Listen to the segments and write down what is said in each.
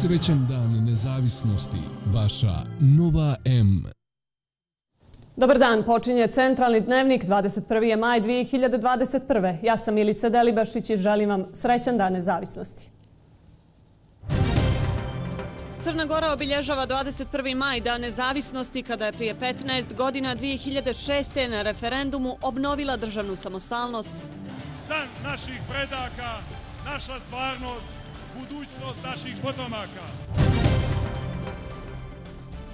Srećan dan nezavisnosti, vaša Nova M. Dobar dan, počinje Centralni dnevnik, 21. je maj 2021. Ja sam Milica Delibašić i želim vam srećan dan nezavisnosti. Crna Gora obilježava 21. maj, dan nezavisnosti, kada je prije 15 godina 2006. na referendumu obnovila državnu samostalnost. San naših predaka, naša stvarnost, budućnost naših potomaka.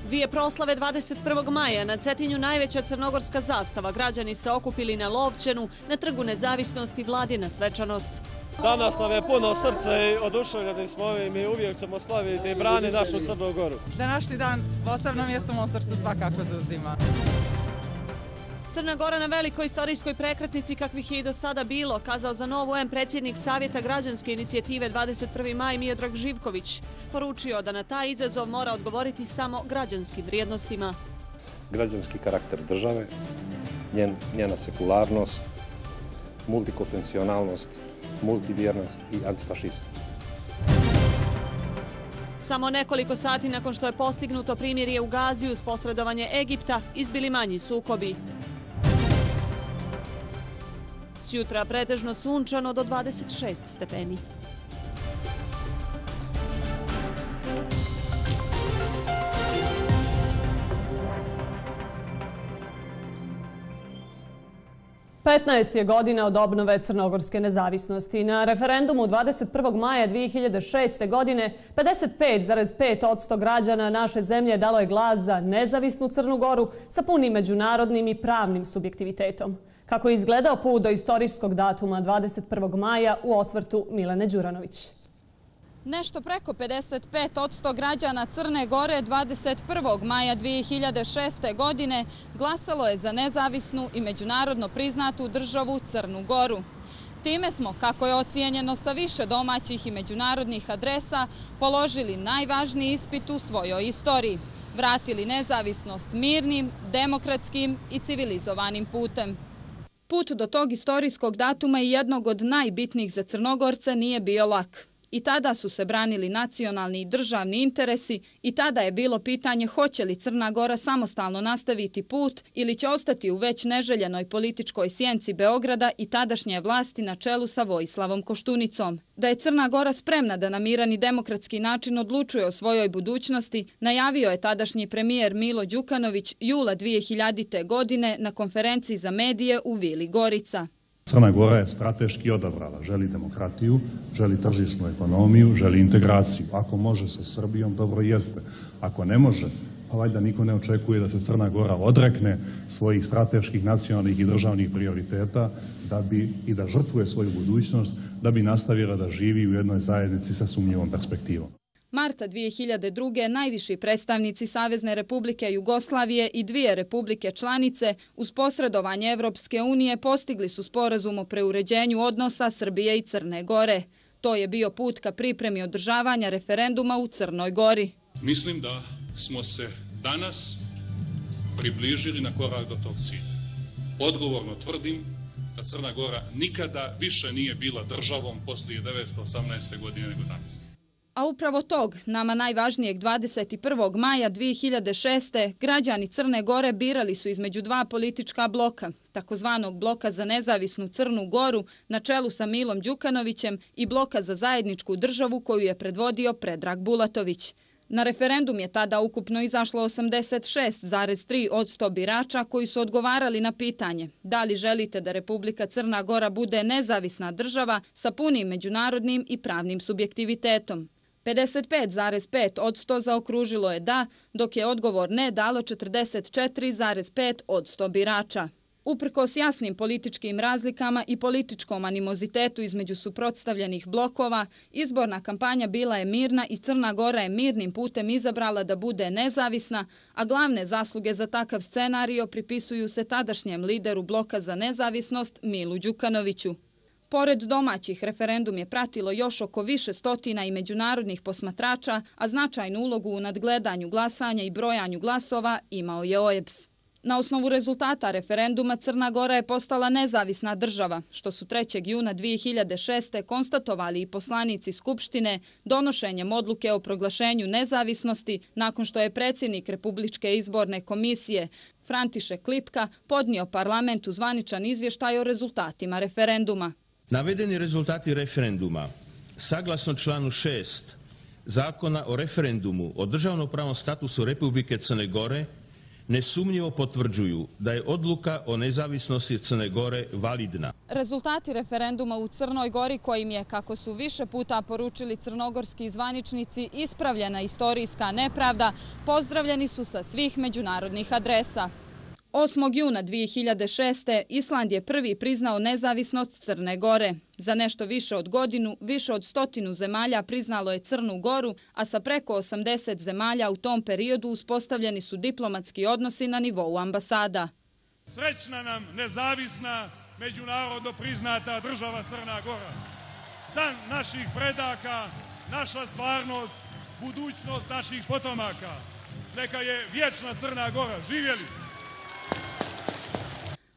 Dvije proslave 21. maja, na Cetinju najveća crnogorska zastava. Građani se okupili na Lovćenu, na Trgu nezavisnosti, Vladina svečanost. Danas nam je puno srce i oduševljeni smo ovim i uvijek ćemo slaviti i brani našu Crnu Goru. Današnji dan posebno mjesto u mom srcu svakako zauzima. Crna Gora na velikoj istorijskoj prekretnici kakvih je i do sada bilo, kazao za Novu M predsjednik Savjeta građanske inicijative 21. maj Miodrag Živković. Poručio da na taj izazov mora odgovoriti samo građanskim vrijednostima. Građanski karakter države, njena sekularnost, multikonfesionalnost, multivjernost i antifašizam. Samo nekoliko sati nakon što je postignuto primirje u Gazi uz posredovanje Egipta, izbili manji sukobi. Sjutra pretežno sunčano do 26 stepeni. Petnaest je godina od obnove crnogorske nezavisnosti. Na referendumu 21. maja 2006. godine 55,5% građana naše zemlje dalo je glas za nezavisnu Crnu Goru sa punim međunarodnim i pravnim subjektivitetom. Kako je izgledao put do istorijskog datuma 21. maja u osvrtu Milene Đuranović. Nešto preko 55% građana Crne Gore 21. maja 2006. godine glasalo je za nezavisnu i međunarodno priznatu državu Crnu Goru. Time smo, kako je ocijenjeno sa više domaćih i međunarodnih adresa, položili najvažniji ispit u svojoj istoriji. Vratili nezavisnost mirnim, demokratskim i civilizovanim putem. Put do tog istorijskog datuma i jednog od najbitnijih za Crnogorce nije bio lak. I tada su se branili nacionalni i državni interesi i tada je bilo pitanje hoće li Crna Gora samostalno nastaviti put ili će ostati u već neželjenoj političkoj sjenci Beograda i tadašnje vlasti na čelu sa Vojislavom Koštunicom. Da je Crna Gora spremna da na miran i demokratski način odlučuje o svojoj budućnosti, najavio je tadašnji premijer Milo Đukanović jula 2000. godine na konferenciji za medije u Vili Gorica. Crna Gora je strateški odabrala, želi demokratiju, želi tržišnu ekonomiju, želi integraciju. Ako može sa Srbijom, dobro jeste. Ako ne može, pa valjda niko ne očekuje da se Crna Gora odrekne svojih strateških, nacionalnih i državnih prioriteta i da žrtvuje svoju budućnost, da bi nastavila da živi u jednoj zajednici sa sumnjivom perspektivom. Marta 2002. najviši predstavnici Savezne republike Jugoslavije i dvije republike članice uz posredovanje Evropske unije postigli su sporazum o preuređenju odnosa Srbije i Crne Gore. To je bio put ka pripremi održavanja referenduma u Crnoj Gori. Mislim da smo se danas približili na korak do tog cilja. Odgovorno tvrdim da Crna Gora nikada više nije bila državom poslije 1918. godine nego danas. A upravo tog, nama najvažnijeg 21. maja 2006. građani Crne Gore birali su između dva politička bloka, takozvanog bloka za nezavisnu Crnu Goru na čelu sa Milom Đukanovićem i bloka za zajedničku državu koju je predvodio Predrag Bulatović. Na referendum je tada ukupno izašlo 86,3% birača koji su odgovarali na pitanje da li želite da Republika Crna Gora bude nezavisna država sa punim međunarodnim i pravnim subjektivitetom. 55,5% zaokružilo je da, dok je odgovor ne dalo 44,5% birača. Uprkos jasnim političkim razlikama i političkom animozitetu između suprotstavljenih blokova, izborna kampanja bila je mirna i Crna Gora je mirnim putem izabrala da bude nezavisna, a glavne zasluge za takav scenario pripisuju se tadašnjem lideru bloka za nezavisnost Milu Đukanoviću. Pored domaćih, referendum je pratilo još oko više stotina i međunarodnih posmatrača, a značajnu ulogu u nadgledanju glasanja i brojanju glasova imao je OEBS. Na osnovu rezultata referenduma Crna Gora je postala nezavisna država, što su 3. juna 2006. konstatovali i poslanici Skupštine donošenjem odluke o proglašenju nezavisnosti nakon što je predsjednik Republičke izborne komisije František Lipka podnio parlamentu zvaničan izvještaj o rezultatima referenduma. Navedeni rezultati referenduma, saglasno članu 6 Zakona o referendumu o državnopravnom statusu Republike Crne Gore, nesumnjivo potvrđuju da je odluka o nezavisnosti Crne Gore validna. Rezultati referenduma u Crnoj Gori, kojim je, kako su više puta poručili crnogorski zvaničnici, ispravljena istorijska nepravda, pozdravljeni su sa svih međunarodnih adresa. 8. juna 2006. Island je prvi priznao nezavisnost Crne Gore. Za nešto više od godinu, više od 100 zemalja priznalo je Crnu Goru, a sa preko 80 zemalja u tom periodu uspostavljeni su diplomatski odnosi na nivou ambasada. Srećna nam, nezavisna, međunarodno priznata država Crna Gora. San naših predaka, naša stvarnost, budućnost naših potomaka. Neka je vječna Crna Gora. Živjeli!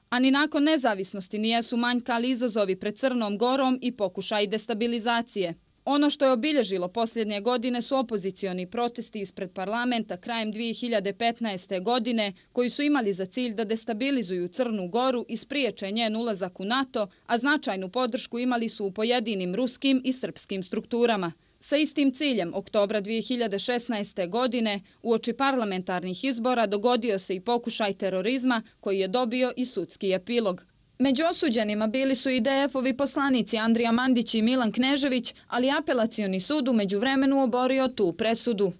A ni nakon nezavisnosti nijesu manjkali izazovi pred Crnom Gorom i pokušaj destabilizacije. Ono što je obilježilo posljednje godine su opozicioni protesti ispred parlamenta krajem 2015. godine, koji su imali za cilj da destabilizuju Crnu Goru i spriječe njen ulazak u NATO, a značajnu podršku imali su u pojedinim ruskim i srpskim strukturama. Sa istim ciljem, oktobra 2016. godine, uoči parlamentarnih izbora dogodio se i pokušaj terorizma koji je dobio i sudski epilog. Među osuđenima bili su i DF-ovi poslanici Andrija Mandić i Milan Knežević, ali apelacioni sud u međuvremenu oborio tu presudu.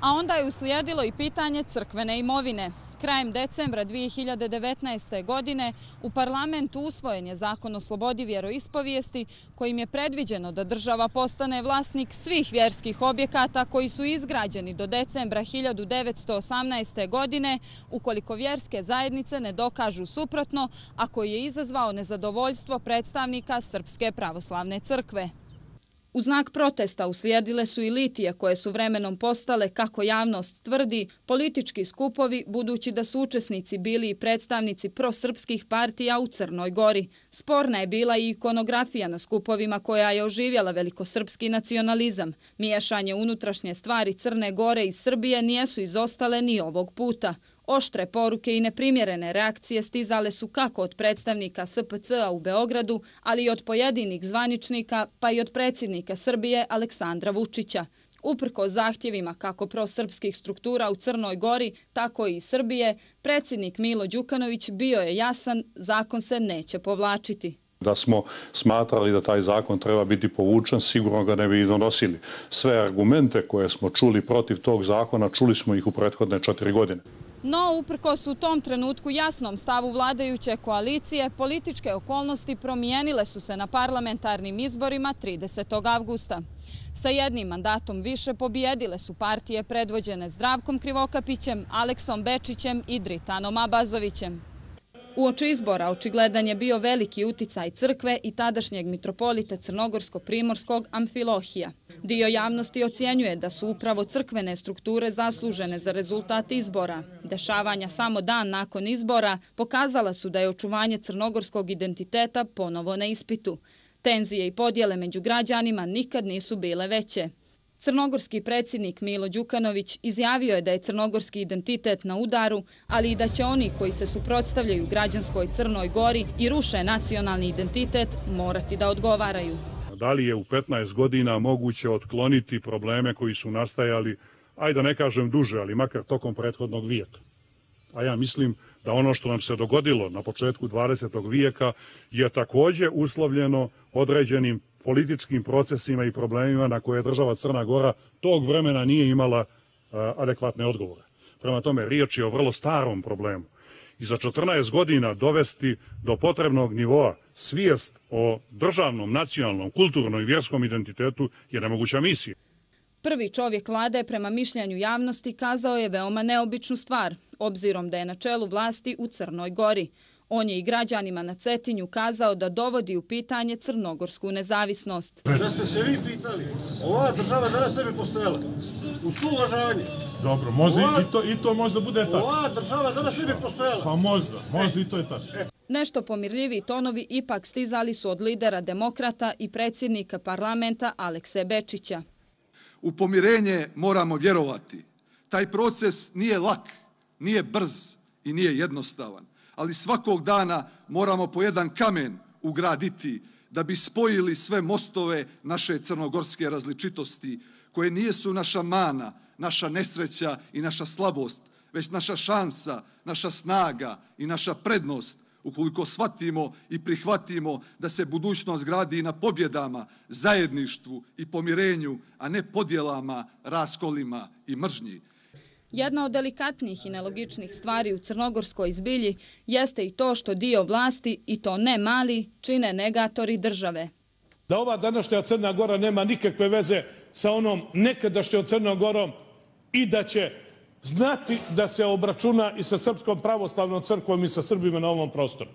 A onda je uslijedilo i pitanje crkvene imovine. Krajem decembra 2019. godine u parlamentu usvojen je zakon o slobodi vjeroispovijesti kojim je predviđeno da država postane vlasnik svih vjerskih objekata koji su izgrađeni do decembra 1918. godine ukoliko vjerske zajednice ne dokažu suprotno, a koji je izazvao nezadovoljstvo predstavnika Srpske pravoslavne crkve. U znak protesta uslijedile su i litije koje su vremenom postale, kako javnost tvrdi, politički skupovi, budući da su učesnici bili i predstavnici prosrpskih partija u Crnoj Gori. Sporna je bila i ikonografija na skupovima koja je oživjela velikosrpski nacionalizam. Miješanje unutrašnje stvari Crne Gore i Srbije nijesu izostale ni ovog puta. Oštre poruke i neprimjerene reakcije stizale su kako od predstavnika SPC-a u Beogradu, ali i od pojedinih zvaničnika, pa i od predsjednika Srbije Aleksandra Vučića. Uprkos zahtjevima kako prosrpskih struktura u Crnoj Gori, tako i Srbije, predsjednik Milo Đukanović bio je jasan, zakon se neće povlačiti. Da smo smatrali da taj zakon treba biti povučen, sigurno ga ne bi i donosili. Sve argumente koje smo čuli protiv tog zakona, čuli smo ih u prethodne 4 godine. No, uprkos u tom trenutku jasnom stavu vladajuće koalicije, političke okolnosti promijenile su se na parlamentarnim izborima 30. avgusta. Sa jednim mandatom više pobijedile su partije predvođene Zdravkom Krivokapićem, Aleksom Bečićem i Dritanom Abazovićem. Uoči izbora očigledan je bio veliki uticaj crkve i tadašnjeg mitropolita crnogorsko-primorskog Amfilohija. Dio javnosti ocjenjuje da su upravo crkvene strukture zaslužene za rezultat izbora. Dešavanja samo dan nakon izbora pokazala su da je očuvanje crnogorskog identiteta ponovo na ispitu. Tenzije i podjele među građanima nikad nisu bile veće. Crnogorski predsjednik Milo Đukanović izjavio je da je crnogorski identitet na udaru, ali i da će oni koji se suprotstavljaju građanskoj Crnoj Gori i ruše nacionalni identitet morati da odgovaraju. Da li je u 15 godina moguće otkloniti probleme koji su nastajali, ajde da ne kažem duže, ali makar tokom prethodnog vijeka? A ja mislim da ono što nam se dogodilo na početku 20. vijeka je također uslovljeno određenim političkim procesima i problemima na koje država Crna Gora tog vremena nije imala adekvatne odgovore. Prema tome, riječ je o vrlo starom problemu. I za 14 godina dovesti do potrebnog nivoa svijest o državnom, nacionalnom, kulturnom i vjerskom identitetu je nemoguća misija. Prvi čovjek vlade, prema mišljenju javnosti, kazao je veoma neobičnu stvar, obzirom da je na čelu vlasti u Crnoj Gori. On je i građanima na Cetinju kazao da dovodi u pitanje crnogorsku nezavisnost. Da ste se vi pitali, ova država danas ne bi postojala. U suuvažavanje. Dobro, može i to možda bude tako. Ova država danas ne bi postojala. Pa možda i to je tako. Nešto pomirljiviji tonovi ipak stizali su od lidera demokrata i predsjednika parlamenta Alekse Bečića. U pomirenje moramo vjerovati. Taj proces nije lak, nije brz i nije jednostavan, ali svakog dana moramo po jedan kamen ugraditi da bi spojili sve mostove naše crnogorske različitosti, koje nisu naša mana, naša nesreća i naša slabost, već naša šansa, naša snaga i naša prednost, ukoliko shvatimo i prihvatimo da se budućnost gradi na pobjedama, zajedništvu i pomirenju, a ne podjelama, raskolima i mržnji. Jedna od delikatnijih i nelogičnih stvari u crnogorskoj zbilji jeste i to što dio vlasti, i to ne mali, čine negatori države. Da ova današnja Crna Gora nema nikakve veze sa onom nekadašnjom Crnom Gorom i da će znati da se obračuna i sa Srpskom pravoslavnom crkvom i sa Srbima na ovom prostoru.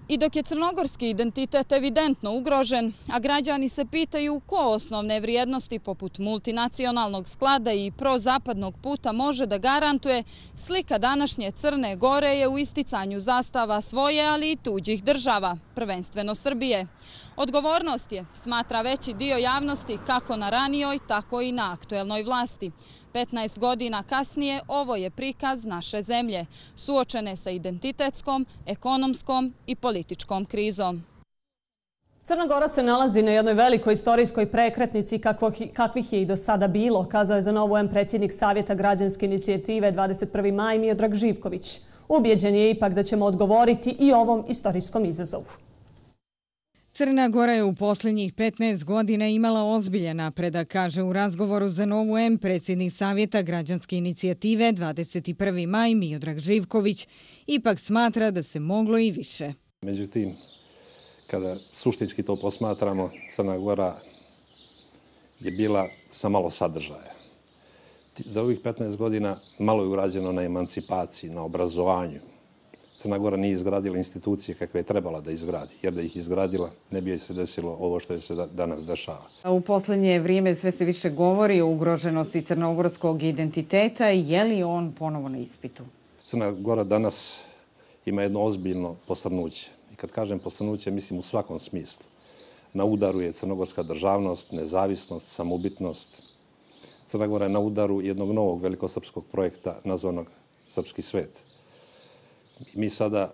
I dok je crnogorski identitet evidentno ugrožen, a građani se pitaju ko osnovne vrijednosti poput multinacionalnog sklada i prozapadnog puta može da garantuje, slika današnje Crne Gore je u isticanju zastava svoje, ali i tuđih država, prvenstveno Srbije. Odgovornost je, smatra veći dio javnosti, kako na ranijoj, tako i na aktuelnoj vlasti. 15 godina kasnije ovo je prikaz naše zemlje, suočene sa identitetskom, ekonomskom i političkom krizom. Crna Gora se nalazi na jednoj velikoj istorijskoj prekretnici kakvih je i do sada bilo, kazao je za Novu M predsjednik Savjeta građanske inicijative 21. maj Miodrag Živković. Ubijeđen je ipak da ćemo odgovoriti i ovom istorijskom izazovu. Crna Gora je u posljednjih 15 godina imala ozbiljan napredak, kaže u razgovoru za Novu M predsjednik Savjeta građanske inicijative 21. maj Miodrag Živković. Ipak smatra da se moglo i više. Međutim, kada suštinski to posmatramo, Crna Gora je bila sa malo sadržaja. Za ovih 15 godina malo je urađeno na emancipaciji, na obrazovanju. Crna Gora nije izgradila institucije kakve je trebala da izgradi, jer da ih izgradila ne bi joj se desilo ovo što je se danas dešava. U posljednje vrijeme sve se više govori o ugroženosti crnogorskog identiteta. Je li on ponovo na ispitu? Crna Gora danas ima jedno ozbiljno posrnuće. I kad kažem posrnuće, mislim u svakom smislu. Na udaru je crnogorska državnost, nezavisnost, samobitnost. Crna Gora je na udaru jednog novog velikosrpskog projekta nazvanog Srpski svet. Mi sada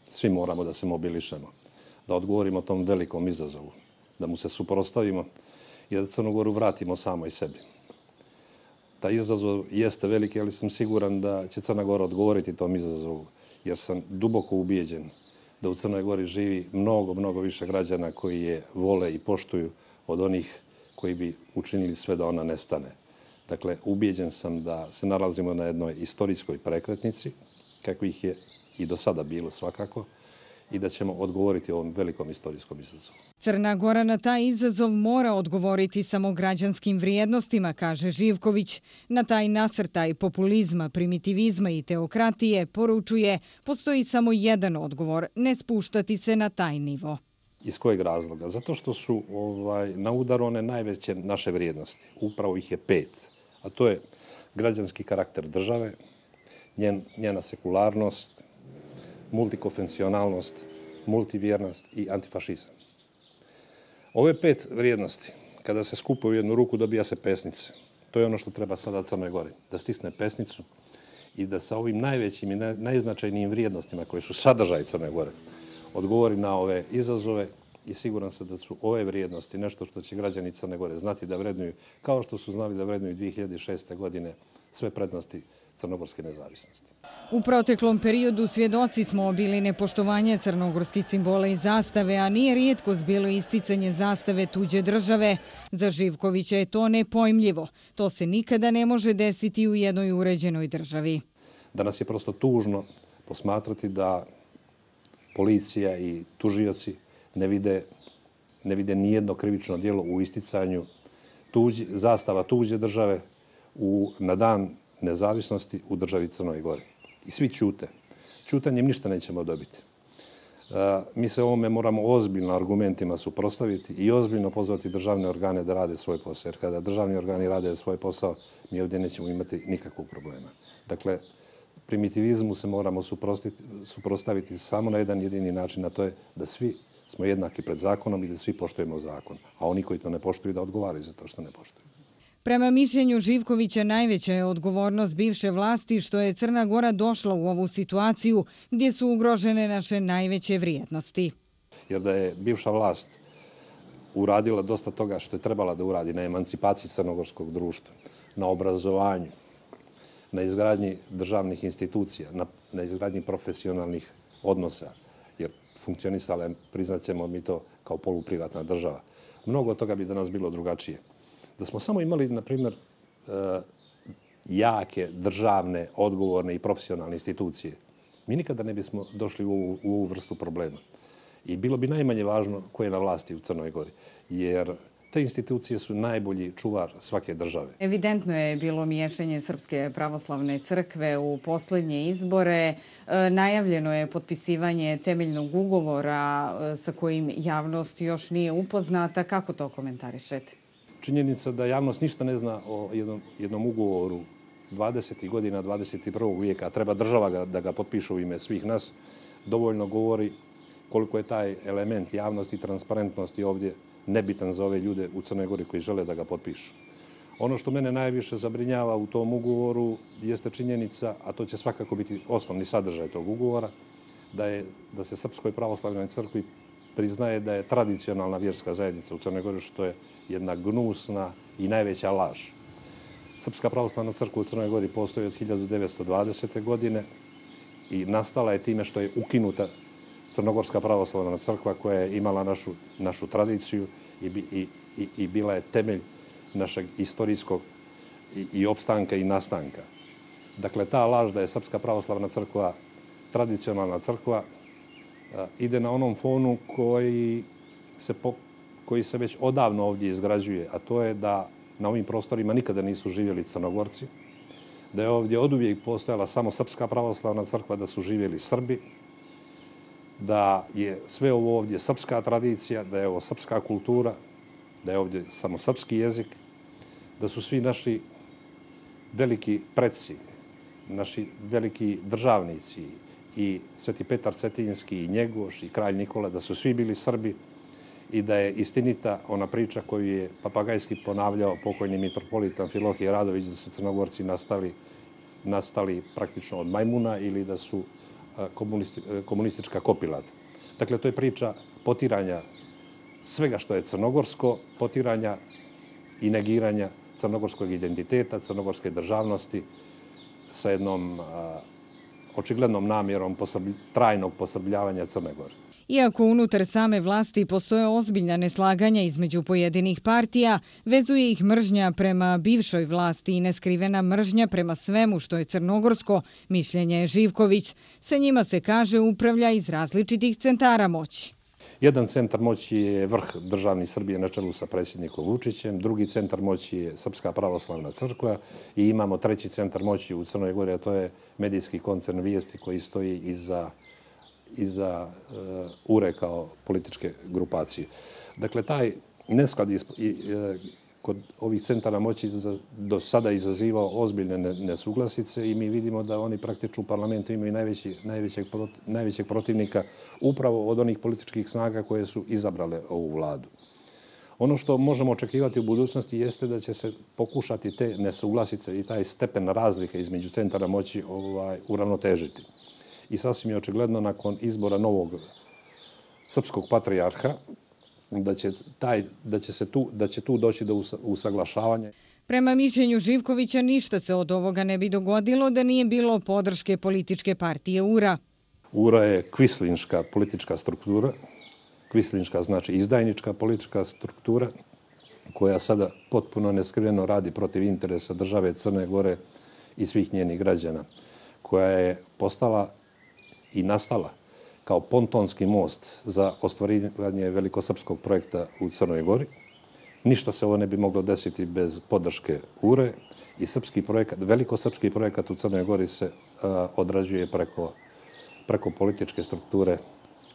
svi moramo da se mobilišemo, da odgovorimo tom velikom izazovu, da mu se suprotstavimo i da Crnu Goru vratimo samoj sebi. Taj izazov jeste veliki, ali sam siguran da će Crna Gora odgovoriti tom izazovu, jer sam duboko ubijeđen da u Crnoj Gori živi mnogo više građana koji je vole i poštuju od onih koji bi učinili sve da ona nestane. Dakle, ubijeđen sam da se nalazimo na jednoj istorijskoj prekretnici, kakvih je i do sada bilo svakako, i da ćemo odgovoriti ovom velikom istorijskom izazovu. Crna Gora na taj izazov mora odgovoriti samo građanskim vrijednostima, kaže Živković. Na taj nasrtaj populizma, primitivizma i teokratije poručuje postoji samo jedan odgovor, ne spuštati se na taj nivo. Iz kojeg razloga? Zato što su na udaru one najveće naše vrijednosti. Upravo ih je 5. A to je građanski karakter države, njena sekularnost, multikonfesionalnost, multivjernost i antifašizam. Ove 5 vrijednosti, kada se skupaju u jednu ruku, dobija se pesnice. To je ono što treba sada Crnoj Gori, da stisne pesnicu i da sa ovim najvećim i najznačajnijim vrijednostima koje su sadržaj Crne Gore odgovori na ove izazove i siguran sam da su ove vrijednosti nešto što će građani Crne Gore znati da vrednuju, kao što su znali da vrednuju 2006. godine sve prednosti crnogorske nezavisnosti. U proteklom periodu svjedoci smo bili nepoštovanja crnogorskih simbola i zastave, a nije rijetkost bilo isticanje zastave tuđe države. Za Živkovića je to nepojmljivo. To se nikada ne može desiti u jednoj uređenoj državi. Danas je prosto tužno posmatrati da policija i tužioci ne vide nijedno krivično djelo u isticanju zastava tuđe države na dan nezavisnosti u državi Crnoj Gori. I svi ćute. Ćutanjem ništa nećemo dobiti. Mi se ovome moramo ozbiljno argumentima suprotstaviti i ozbiljno pozvati državne organe da rade svoj posao. Jer kada državni organi rade svoj posao, mi ovdje nećemo imati nikakvog problema. Dakle, primitivizmu se moramo suprotstaviti samo na jedan jedini način, a to je da svi smo jednaki pred zakonom i da svi poštujemo zakon. A oni koji to ne poštuju da odgovaraju za to što ne poštuju. Prema mišljenju Živkovića, najveća je odgovornost bivše vlasti što je Crna Gora došla u ovu situaciju gdje su ugrožene naše najveće vrijednosti. Jer da je bivša vlast uradila dosta toga što je trebala da uradi na emancipaciji crnogorskog društva, na obrazovanju, na izgradnji državnih institucija, na izgradnji profesionalnih odnosa, jer funkcionisala je, priznaćemo mi to, kao poluprivatna država. Mnogo od toga bi danas bilo drugačije. Da smo samo imali, na primjer, jake, državne, odgovorne i profesionalne institucije, mi nikada ne bismo došli u ovu vrstu problema. I bilo bi najmanje važno ko je na vlasti u Crnoj Gori, jer te institucije su najbolji čuvar svake države. Evidentno je bilo miješanje Srpske pravoslavne crkve u posljednje izbore. Najavljeno je potpisivanje temeljnog ugovora sa kojim javnost još nije upoznata. Kako to komentarišete? Činjenica da javnost ništa ne zna o jednom ugovoru 20. godina 21. vijeka, a treba država da ga potpiše u ime svih nas, dovoljno govori koliko je taj element javnosti i transparentnosti ovdje nebitan za ove ljude u Crnoj Gori koji žele da ga potpišu. Ono što mene najviše zabrinjava u tom ugovoru jeste činjenica, a to će svakako biti osnovni sadržaj tog ugovora, da se Srpskoj pravoslavnoj crkvi priznaje da je tradicionalna vjerska zajednica u Crnoj Gori, što je jedna gnusna i najveća laž. Srpska pravoslavna crkva u Crnoj Gori postoji od 1920. godine i nastala je time što je ukinuta Crnogorska pravoslavna crkva koja je imala našu tradiciju i bila je temelj našeg istorijskog i opstanka i nastanka. Dakle, ta laž da je Srpska pravoslavna crkva tradicionalna crkva ide na onom fonu koji se već odavno ovdje izgrađuje, a to je da na ovim prostorima nikada nisu živjeli Crnogorci, da je ovdje oduvijek postojala samo Srpska pravoslavna crkva, da su živjeli Srbi, da je sve ovo ovdje srpska tradicija, da je ovo srpska kultura, da je ovdje samo srpski jezik, da su svi naši veliki preci, naši veliki državnici i Sveti Petar Cetinski i Njegoš i kralj Nikola, da su svi bili Srbi i da je istinita ona priča koju je papagajski ponavljao pokojni mitropolit Amfilohije Radović, da su Crnogorci nastali praktično od majmuna ili da su komunistička kopilad. Dakle, to je priča potiranja svega što je crnogorsko, potiranja i negiranja crnogorskog identiteta, crnogorske državnosti sa jednom očiglednom namjerom trajnog posrbljavanja Crne Gore. Iako unutar same vlasti postoje ozbiljna neslaganja između pojedinih partija, vezuje ih mržnja prema bivšoj vlasti i neskrivena mržnja prema svemu što je crnogorsko, mišljenje je Živković. Sa njima se, kaže, upravlja iz različitih centara moći. Jedan centar moći je vrh državni Srbije na čelu sa predsjednikom Vučićem, drugi centar moći je Srpska pravoslavna crkva i imamo treći centar moći u Crnoj Gori, a to je medijski koncern Vijesti koji stoji iza URE kao političke grupacije. Dakle, taj nesklad kod ovih centara moći do sada izazivao ozbiljne nesuglasice i mi vidimo da oni praktično u parlamentu imaju najvećeg protivnika upravo od onih političkih snaga koje su izabrale ovu vladu. Ono što možemo očekivati u budućnosti jeste da će se pokušati te nesuglasice i taj stepen razlike između centara moći uravnotežiti. I sasvim je očigledno nakon izbora novog srpskog patrijarha da će tu doći do usaglašavanja. Prema mišljenju Živkovića ništa se od ovoga ne bi dogodilo da nije bilo podrške političke partije URA. URA je kvislinška politička struktura, kvislinška znači izdajnička politička struktura koja sada potpuno neskriveno radi protiv interesa države Crne Gore i svih njenih građana, koja je postala i nastala kao pontonski most za ostvarivanje velikosrpskog projekta u Crnoj Gori. Ništa se ovo ne bi moglo desiti bez podrške URE i velikosrpski projekat u Crnoj Gori se odrađuje preko političke strukture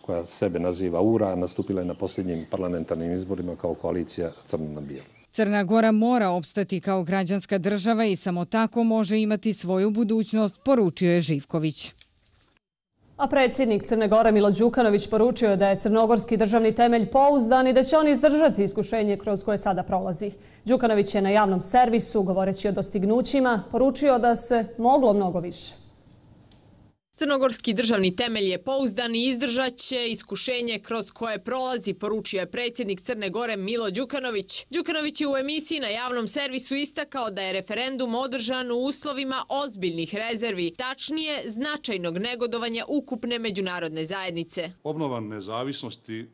koja sebe naziva URA, nastupila je na posljednjim parlamentarnim izborima kao koalicija crno na bijelo. Crna Gora mora opstati kao građanska država i samo tako može imati svoju budućnost, poručio je Živković. A predsjednik Crne Gore Milo Đukanović poručio je da je crnogorski državni temelj pouzdan i da će on izdržati iskušenje kroz koje sada prolazi. Đukanović je na javnom servisu, govoreći o dostignućima, poručio da se moglo mnogo više. Crnogorski državni temelj je pouzdan i izdržat će iskušenje kroz koje prolazi, poručio je predsjednik Crne Gore Milo Đukanović. Đukanović je u emisiji na javnom servisu istakao da je referendum održan u uslovima ozbiljnih rezervi, tačnije značajnog negodovanja ukupne međunarodne zajednice. Obnova nezavisnosti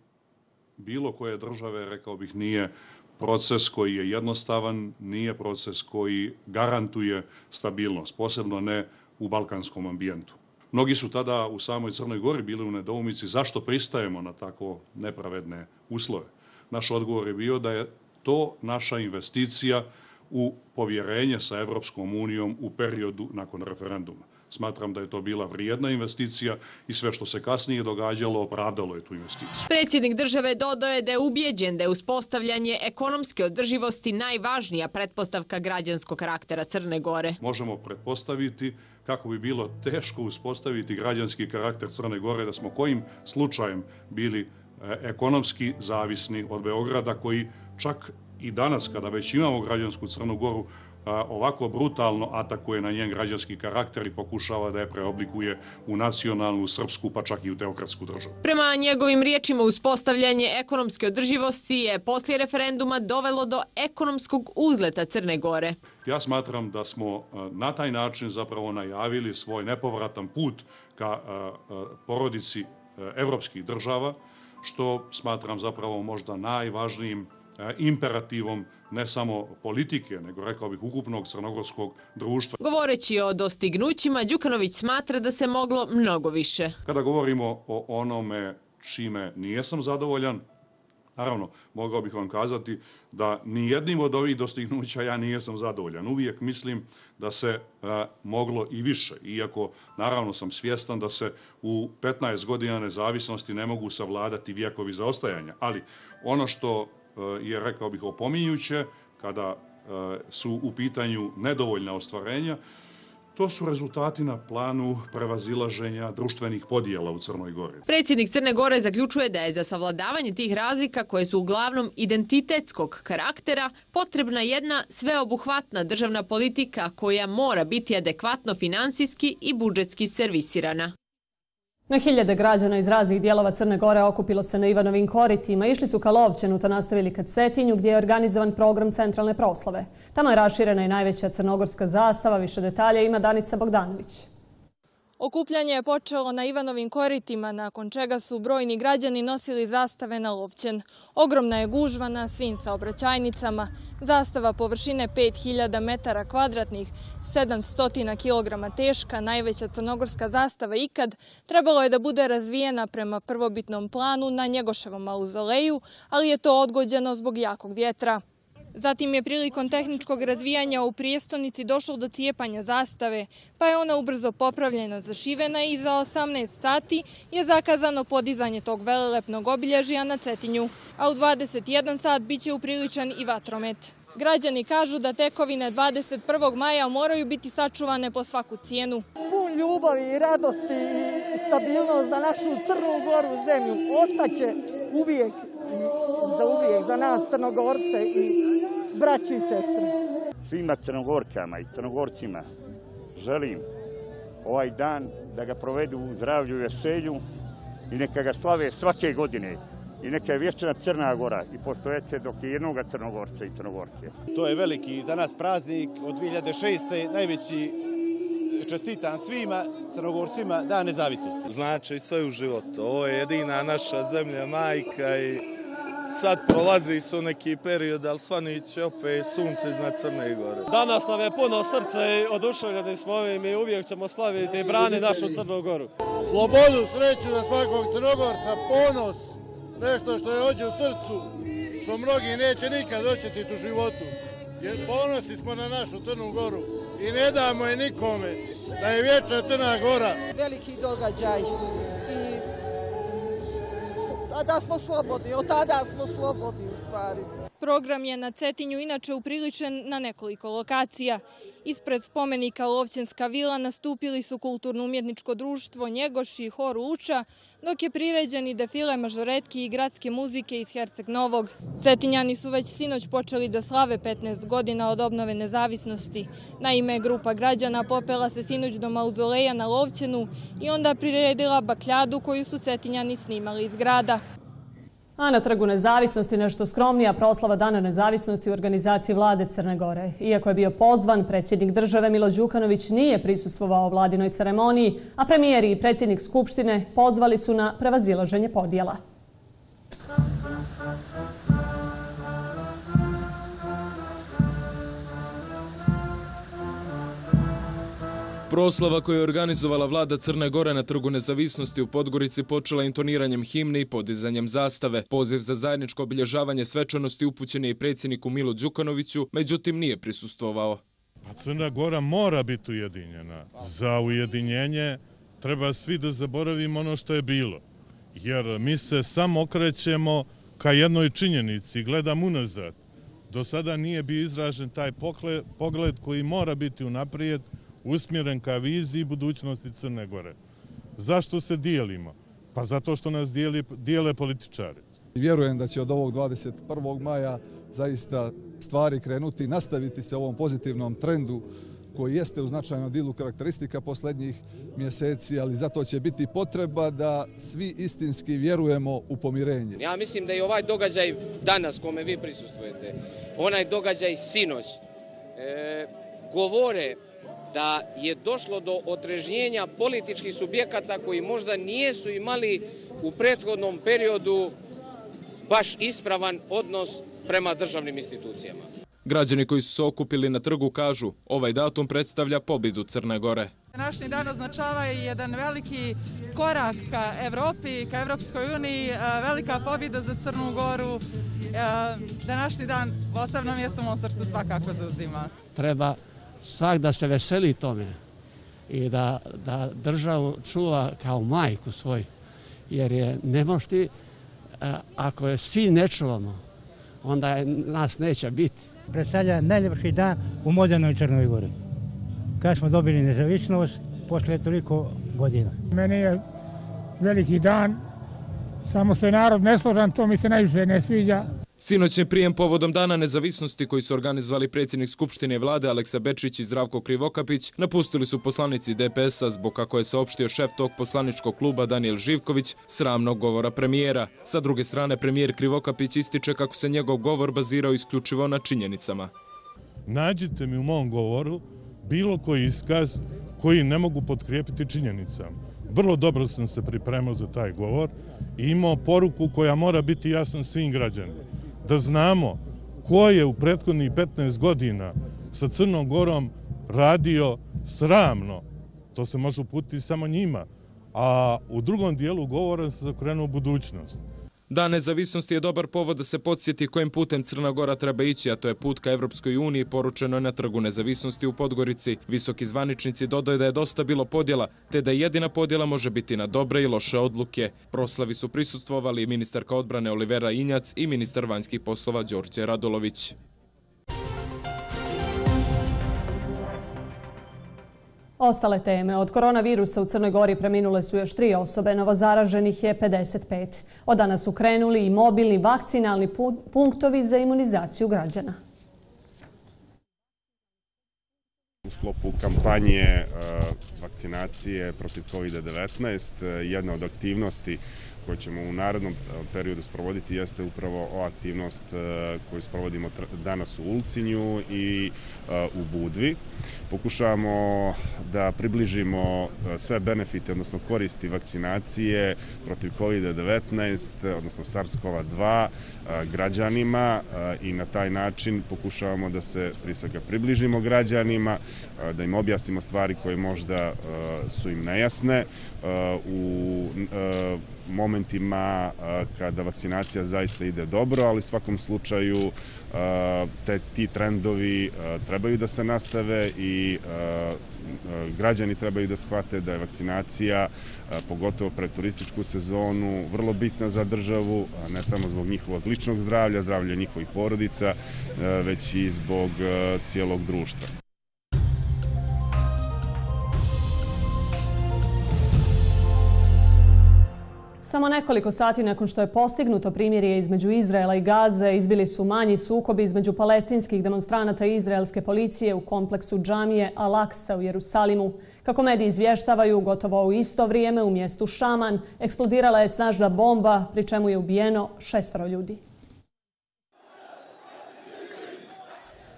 bilo koje države, rekao bih, nije proces koji je jednostavan, nije proces koji garantuje stabilnost, posebno ne u balkanskom ambijentu. Mnogi su tada u samoj Crnoj Gori bili u nedoumici zašto pristajemo na tako nepravedne uslove. Naš odgovor je bio da je to naša investicija u povjerenje sa Evropskom unijom u periodu nakon referenduma. Smatram da je to bila vrijedna investicija i sve što se kasnije događalo opravdalo je tu investiciju. Predsjednik države dodao je da je ubijeđen da je uspostavljanje ekonomske održivosti najvažnija pretpostavka građanskog karaktera Crne Gore. Možemo pretpostaviti kako bi bilo teško uspostaviti građanski karakter Crne Gore da smo kojim slučajem bili ekonomski zavisni od Beograda, koji čak i danas, kada već imamo građansku Crnu Goru, ovako brutalno atakuje na njen građanski karakter i pokušava da je preoblikuje u nacionalnu, srpsku, pa čak i u teokratsku državu. Prema njegovim riječima, uspostavljanje ekonomske održivosti je poslije referenduma dovelo do ekonomskog uzleta Crne Gore. Ja smatram da smo na taj način zapravo najavili svoj nepovratan put ka porodici evropskih država, što smatram zapravo možda najvažnijim imperativom ne samo politike, nego rekao bih ukupnog crnogorskog društva. Govoreći o dostignućima, Đukanović smatra da se moglo mnogo više. Kada govorimo o onome čime nijesam zadovoljan, naravno, mogao bih vam kazati da nijednim od ovih dostignuća ja nijesam zadovoljan. Uvijek mislim da se moglo i više, iako naravno sam svjestan da se u 15 godina nezavisnosti ne mogu savladati vijekovi zaostajanja, ali ono što je, rekao bih, opominjuće kada su u pitanju nedovoljna ostvarenja, to su rezultati na planu prevazilaženja društvenih podijela u Crnoj Gori. Predsjednik Crne Gore zaključuje da je za savladavanje tih razlika, koje su uglavnom identitetskog karaktera, potrebna jedna sveobuhvatna državna politika koja mora biti adekvatno finansijski i budžetski servisirana. Na hiljade građana iz raznih dijelova Crne Gore okupilo se na Ivanovim koritima. Išli su ka Lovćenu, to nastavili ka Cetinju, gdje je organizovan program centralne proslave. Tamo je raširena i najveća crnogorska zastava. Više detalja ima Danica Bogdanović. Okupljanje je počelo na Ivanovim koritima, nakon čega su brojni građani nosili zastave na Lovćen. Ogromna je gužva na svim saobraćajnicama. Zastava površine 5000 metara kvadratnih, 700 kg teška, najveća crnogorska zastava ikad, trebalo je da bude razvijena prema prvobitnom planu na Njegoševom mauzoleju, ali je to odgođeno zbog jakog vjetra. Zatim je prilikom tehničkog razvijanja u prijestolnici došlo do cijepanja zastave, pa je ona ubrzo popravljena, zašivena i za 18 sati je zakazano podizanje tog velelepnog obilježja na Cetinju. A u 21 sat bit će upriličan i vatromet. Građani kažu da tekovine 21. maja moraju biti sačuvane po svaku cijenu. Pun ljubavi i radosti i stabilnost za našu Crnu Goru zemlju ostaće uvijek i za uvijek za nas Crnogorce i braći i sestre. Svima Crnogorkama i Crnogorcima želim ovaj dan da ga provedu u zdravlju i veselju i neka ga slave svake godine. I neka je vječna Crna Gora i postojece dok je jednoga Crnogorca i Crnogorke. To je veliki za nas praznik od 2006. najveći, čestitam svima Crnogorcima Dan nezavisnosti. Znači sve u životu. Ovo je jedina naša zemlja, majka i sad prolazi su neki period, ali svanit će opet sunce iznad Crne Gore. Danas nam je puno srca i oduševljeni smo ovim i uvijek ćemo slaviti i brani našu Crnu Goru. Slobodu, sreću za svakog Crnogorca, ponos. Nešto što je ođe u srcu, što mnogi neće nikad osjetiti u životu. Jer ponosni smo na našu Crnu Goru. i ne damo je nikome, da je vječna Crna Gora. Veliki događaj i da smo slobodni, od tada smo slobodni u stvari. Program je na Cetinju inače upriličen na nekoliko lokacija. Ispred spomenika Lovćenska vila nastupili su kulturno-umjetničko društvo Njegoš i hor Uča, dok je priređen i defile mažoretki i gradske muzike iz Herceg Novog. Cetinjani su već sinoć počeli da slave 15 godina od obnove nezavisnosti. Naime, grupa građana popela se sinoć do mauzoleja na Lovćenu i onda priredila bakljadu koju su Cetinjani snimali iz grada. A na Trgu nezavisnosti nešto skromnija proslava Dana nezavisnosti u organizaciji vlade Crne Gore. Iako je bio pozvan, predsjednik države Milo Đukanović nije prisustvovao vladinoj ceremoniji, a premijer i predsjednik Skupštine pozvali su na prevazilaženje podjela. Proslava koju je organizovala vlada Crne Gore na Trgu nezavisnosti u Podgorici počela intoniranjem himne i podizanjem zastave. Poziv za zajedničko obilježavanje svečanosti upućen je i predsjedniku Milu Đukanoviću, međutim nije prisustvovao. Crna Gora mora biti ujedinjena. Za ujedinjenje treba svi da zaboravimo ono što je bilo. Jer mi se samo okrećemo ka jednoj činjenici, gledam unazad. Do sada nije bio izražen taj pogled koji mora biti unaprijed, usmjeren ka viziji budućnosti Crne Gore. Zašto se dijelimo? Pa zato što nas dijele političari. Vjerujem da će od ovog 21. maja zaista stvari krenuti i nastaviti se ovom pozitivnom trendu koji jeste u značajnom dilu karakteristika posljednjih mjeseci, ali zato će biti potreba da svi istinski vjerujemo u pomirenje. Ja mislim da i ovaj događaj danas kome vi prisustvujete, onaj događaj sinoć, govore da je došlo do otrežnjenja političkih subjekata koji možda nijesu imali u prethodnom periodu baš ispravan odnos prema državnim institucijama. Građani koji su se okupili na trgu kažu, ovaj datum predstavlja pobjedu Crne Gore. Današnji dan označava jedan veliki korak ka Evropi, ka Evropskoj uniji, velika pobjeda za Crnu Goru. Današnji dan posebno mjesto u mom srcu svakako zauzima. Treba svak da se veseli tome i da državu čuva kao majku svoj, jer je ne možeš ti, ako je svi ne čuvamo, onda nas neće biti. Predstavlja najljepši dan u modernoj Crnoj Gori. Kad smo dobili nezavisnost posle toliko godina. Meni je veliki dan, samo što je narod nesložan, to mi se najviše ne sviđa. Sinoćni prijem povodom Dana nezavisnosti koji su organizovali predsjednik Skupštine vlade Aleksa Bečić i Zdravko Krivokapić napustili su poslanici DPS-a zbog, kako je saopštio šef tog poslaničkog kluba Danijel Živković, sramnog govora premijera. Sa druge strane, premijer Krivokapić ističe kako se njegov govor bazirao isključivo na činjenicama. Nađite mi u mom govoru bilo koji iskaz koji ne mogu potkrijepiti činjenicama. Vrlo dobro sam se pripremao za taj govor i imao poruku koja mora biti jasna svim građanima. Da znamo ko je u prethodnih 15 godina sa Crnom Gorom radio sramno, to se može uputiti samo njima, a u drugom dijelu govora se zakrenuo budućnost. Dan nezavisnosti je dobar povod da se podsjeti kojim putem Crna Gora treba ići, a to je put ka Evropskoj uniji, poručeno je na Trgu nezavisnosti u Podgorici. Visoki zvaničnici dodaju da je dosta bilo podjela, te da jedina podjela može biti na dobre i loše odluke. Proslavi su prisustvovali ministarka odbrane Olivera Injac i ministar vanjskih poslova Đorđe Radulović. Ostale teme. Od koronavirusa u Crnoj Gori preminule su još 3 osobe, novozaraženih je 55. Od danas su krenuli i mobilni vakcinalni punktovi za imunizaciju građana. U sklopu kampanje vakcinacije protiv COVID-19 jedna od aktivnosti koju ćemo u narednom periodu sprovoditi jeste upravo ova aktivnost koju sprovodimo danas u Ulcinju i u Budvi. Pokušavamo da približimo sve benefite, odnosno koristi vakcinacije protiv COVID-19, odnosno SARS-CoV-2 građanima i na taj način pokušavamo da se prije svega približimo građanima, da im objasnimo stvari koje možda su im nejasne. momentima kada vakcinacija zaista ide dobro, ali u svakom slučaju ti trendovi trebaju da se nastave i građani trebaju da shvate da je vakcinacija, pogotovo pred turističku sezonu, vrlo bitna za državu, ne samo zbog njihovog ličnog zdravlja, zdravlja njihovih porodica, već i zbog cijelog društva. Samo nekoliko sati nakon što je postignuto primirje između Izraela i Gaze, izbili su manji sukobi između palestinskih demonstranata i izraelske policije u kompleksu džamije Al-Aksa u Jerusalimu. Kako mediji izvještavaju, gotovo u isto vrijeme u mjestu Šaman eksplodirala je snažna bomba, pri čemu je ubijeno 6 ljudi.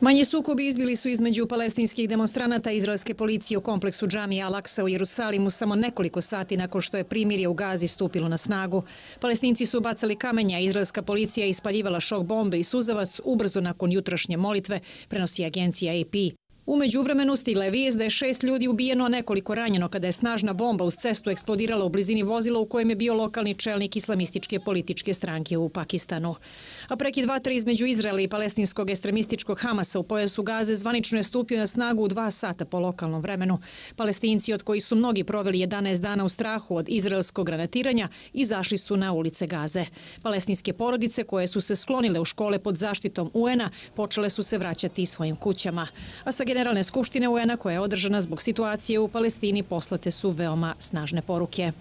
Manji sukobi izbili su između palestinskih demonstranata i izraelske policije u kompleksu džamije Al-Aksa u Jerusalimu samo nekoliko sati nakon što je primirje u Gazi stupilo na snagu. Palestinci su bacali kamenja, izraelska policija je ispaljivala šok bombe i suzavac ubrzo nakon jutrašnje molitve, prenosi agencija AP. U međuvremenu stigla je vijest da je 6 ljudi ubijeno, a nekoliko ranjeno kada je snažna bomba uz cestu eksplodirala u blizini vozila u kojem je bio lokalni čelnik islamističke političke stranke u Pakistanu. A prekid vatre između Izraela i palestinskog ekstremističkog Hamasa u pojasu Gaze zvanično je stupio na snagu u 2 sata po lokalnom vremenu. Palestinci, od kojih su mnogi proveli 11 dana u strahu od izraelskog granatiranja, izašli su na ulice Gaze. Palestinske porodice koje su se sklonile u škole pod zaštitom UN-a počele su se vraćati svojim kućama. A sa Generalne skupštine UN-a koja je održana zbog situacije u Palestini poslate su veoma snažne poruke.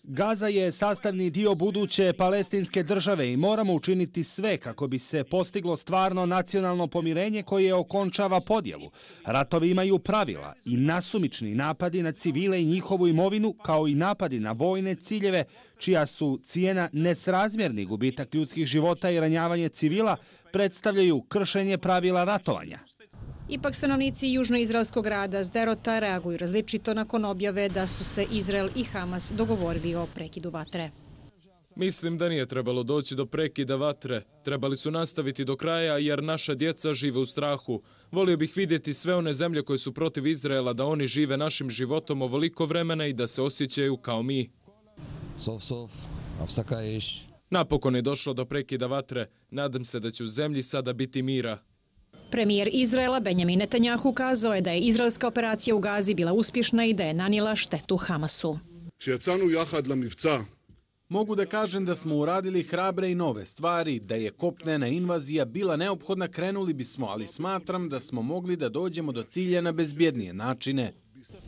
Gaza je sastavni dio buduće palestinske države i moramo učiniti sve kako bi se postiglo stvarno nacionalno pomirenje koje okončava podjelu. Ratovi imaju pravila i nasumični napadi na civile i njihovu imovinu, kao i napadi na vojne ciljeve, čija su cijena nesrazmjerni gubitak ljudskih života i ranjavanje civila, predstavljaju kršenje pravila ratovanja. Ipak stanovnici južnoizraelskog grada Sderota reaguju različito nakon objave da su se Izrael i Hamas dogovorili o prekidu vatre. Mislim da nije trebalo doći do prekida vatre. Trebali su nastaviti do kraja jer naša djeca žive u strahu. Volio bih vidjeti sve one zemlje koje su protiv Izraela, da oni žive našim životom ovoliko vremena i da se osjećaju kao mi. Napokon je došlo do prekida vatre. Nadam se da će u zemlji sada biti mira. Premijer Izraela Benjamin Netanjahu kazao je da je izraelska operacija u Gazi bila uspješna i da je nanijela štetu Hamasu. Mogu da kažem da smo uradili hrabre i nove stvari, da je kopnena invazija bila neophodna, krenuli bismo, ali smatram da smo mogli da dođemo do cilja na bezbjednije načine.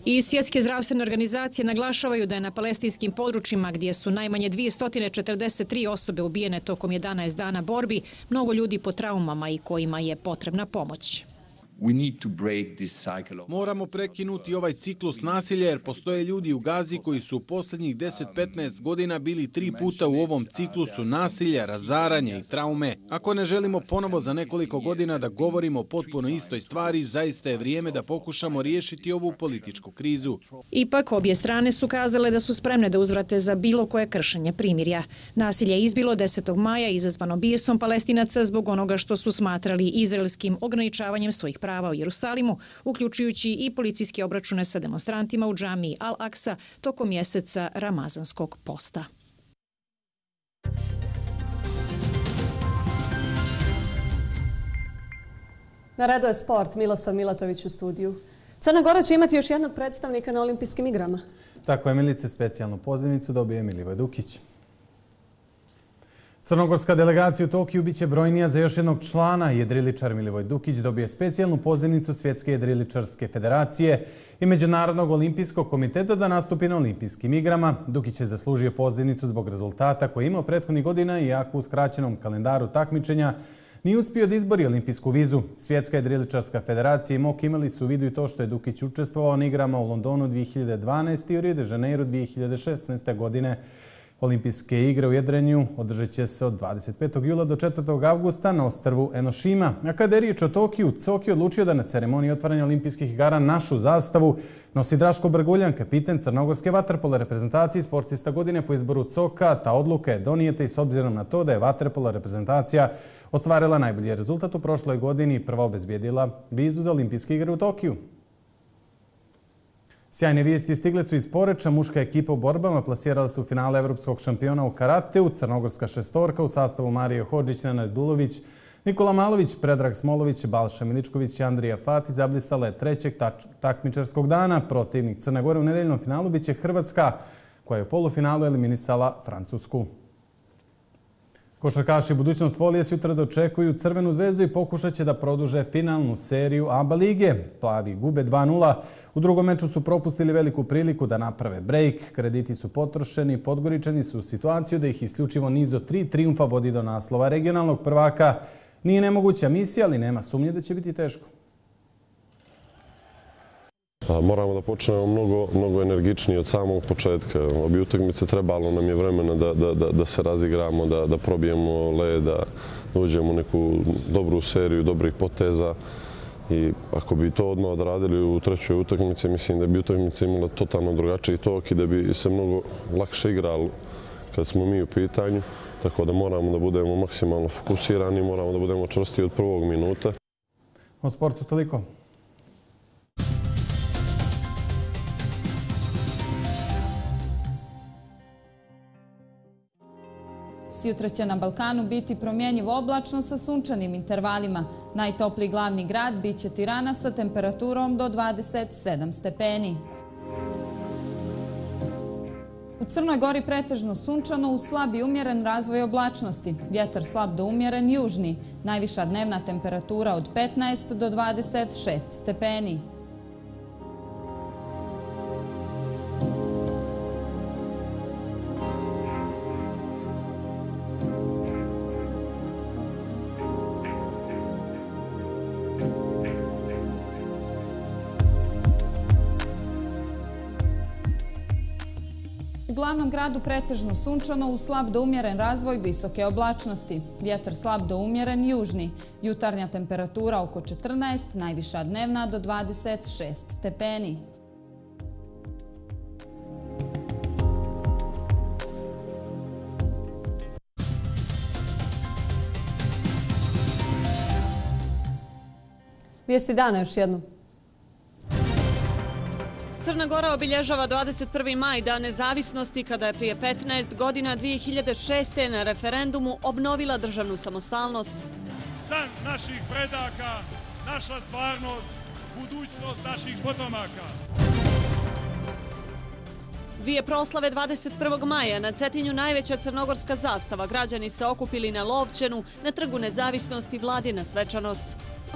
I svjetske zdravstvene organizacije naglašavaju da je na palestinskim područjima, gdje su najmanje 243 osobe ubijene tokom 11 dana borbi, mnogo ljudi po traumama i kojima je potrebna pomoć. Moramo prekinuti ovaj ciklus nasilja jer postoje ljudi u Gazi koji su u posljednjih 10-15 godina bili 3 puta u ovom ciklusu nasilja, razaranja i traume. Ako ne želimo ponovo za nekoliko godina da govorimo o potpuno istoj stvari, zaista je vrijeme da pokušamo riješiti ovu političku krizu. Ipak obje strane su kazale da su spremne da uzvrate za bilo koje kršenje primirja. Nasilje je izbilo 10. maja izazvano bijesom Palestinaca zbog onoga što su smatrali izraelskim ograničavanjem svojih prava u Jerusalimu, uključujući i policijske obračune sa demonstrantima u džamiji Al-Aksa tokom mjeseca Ramazanskog posta. Na redu je sport. Milosav Milatović u studiju. Crna Gora će imati još jednog predstavnika na olimpijskim igrama. Tako je, Milice, specijalnu pozivnicu dobije Milivoj Dukić. Crnogorska delegacija u Tokiju biće brojnija za još jednog člana. Jedriličar Milivoj Dukić dobije specijalnu pozivnicu Svjetske jedriličarske federacije i Međunarodnog olimpijskog komiteta da nastupi na olimpijskim igrama. Dukić je zaslužio pozivnicu zbog rezultata koje je imao prethodnih godina i jako u skraćenom kalendaru takmičenja nije uspio da izbori olimpijsku vizu. Svjetska jedriličarska federacija i MOK imali su u vidu i to što je Dukić učestvovao na igrama u Londonu 2012. i u Rio de Janeiro 2016. godine. Olimpijske igre u jedrenju održat će se od 25. jula do 4. avgusta na ostrvu Enoshima. A kada je riječ o Tokiju, COK je odlučio da na ceremoniji otvaranja olimpijskih igara našu zastavu nosi Draško Brguljan, kapiten crnogorske vaterpolo reprezentacije i sportista godine po izboru COK-a. Ta odluka je donijeta i s obzirom na to da je vaterpolo reprezentacija ostvarila najbolji rezultat u prošloj godini i prva obezbijedila vizu za olimpijske igre u Tokiju. Sjajne vijesti stigle su iz Poreča. Muška ekipa u borbama plasirala se u finale evropskog šampiona u karateu. Crnogorska šestorka u sastavu Marije Hodžić, Nenad Dulović, Nikola Malović, Predrag Smolović, Balša Miličković i Andrija Fati zablistala je trećeg takmičarskog dana. Protivnik Crne Gore u nedeljnom finalu biće Hrvatska, koja je u polufinalu eliminisala Francusku. Košarkaši budućnost Folije sutra dočekuju Crvenu zvezdu i pokušat će da produže finalnu seriju ABA lige. Plavi gube 2:0. U drugom meču su propustili veliku priliku da naprave brejk. Krediti su potrošeni, Podgoričani su u situaciju da ih isključivo niz od 3 trijumfa vodi do naslova regionalnog prvaka. Nije nemoguća misija, ali nema sumnje da će biti teško. Moramo da počnemo mnogo energičnije od samog početka. Obje utakmice trebalo nam je vremena da se razigramo, da probijemo led, da uđemo u neku dobru seriju dobrih poteza. I ako bi to odmah odradili u trećoj utakmici, mislim da bi utakmica imala totalno drugačiji tok i da bi se mnogo lakše igralo kad smo mi u pitanju. Tako da moramo da budemo maksimalno fokusirani, moramo da budemo čvrsti od prvog minuta. O sportu toliko. Sutra će na Balkanu biti promjenjivo oblačno sa sunčanim intervalima. Najtopliji glavni grad biće Tirana sa temperaturom do 27 stepeni. U Crnoj Gori pretežno sunčano uz slab i umjeren razvoj oblačnosti. Vjetar slab do umjeren južni. Najviša dnevna temperatura od 15 do 26 stepeni. U glavnom gradu pretežno sunčano uz slab do umjeren razvoj visoke oblačnosti. Vjetar slab do umjeren južni. Jutarnja temperatura oko 14, najviša dnevna do 26 stepeni. Vijesti dana još jednom. Crna Gora obilježava 21. maj, Dan nezavisnosti, kada je prije 15 godina 2006. na referendumu obnovila državnu samostalnost. San naših predaka, naša stvarnost, budućnost naših potomaka. Dvije proslave 21. maja, na Cetinju najveća crnogorska zastava. Građani se okupili na Lovćenu, na Trgu nezavisnosti, vladina svečanost.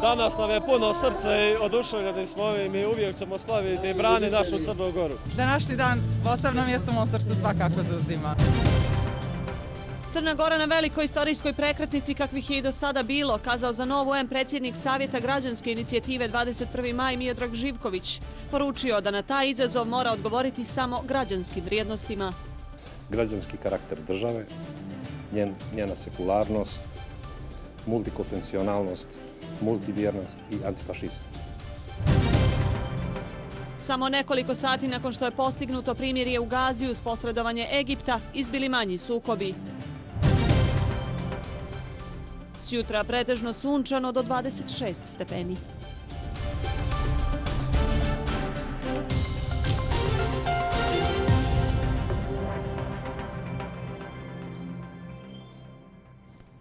Danas nam je puno srce i oduševljeni smo ovim i uvijek ćemo slaviti i brani našu Crnu Goru. Današnji dan posebno mjesto u mom srcu svakako zauzima. Crna Gora na velikoj istorijskoj prekretnici kakvih je i do sada bilo, kazao za Novu M predsjednik Savjeta građanske inicijative 21. maj Miodrag Živković. Poručio da na taj izazov mora odgovoriti samo građanskim vrijednostima. Građanski karakter države, njena sekularnost, multikonfesionalnost, multivjernost i antifašizam. Samo nekoliko sati nakon što je postignuto primirje u Gazi uz posredovanje Egipta, izbili manji sukobi. Sjutra pretežno sunčano do 26 stepeni.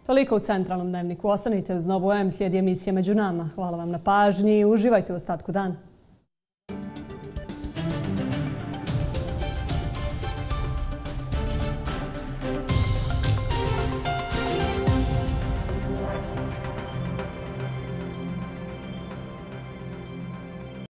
Toliko u centralnom dnevniku. Ostanite uz Novu M, slijedi emisija Među nama. Hvala vam na pažnji i uživajte u ostatku dana.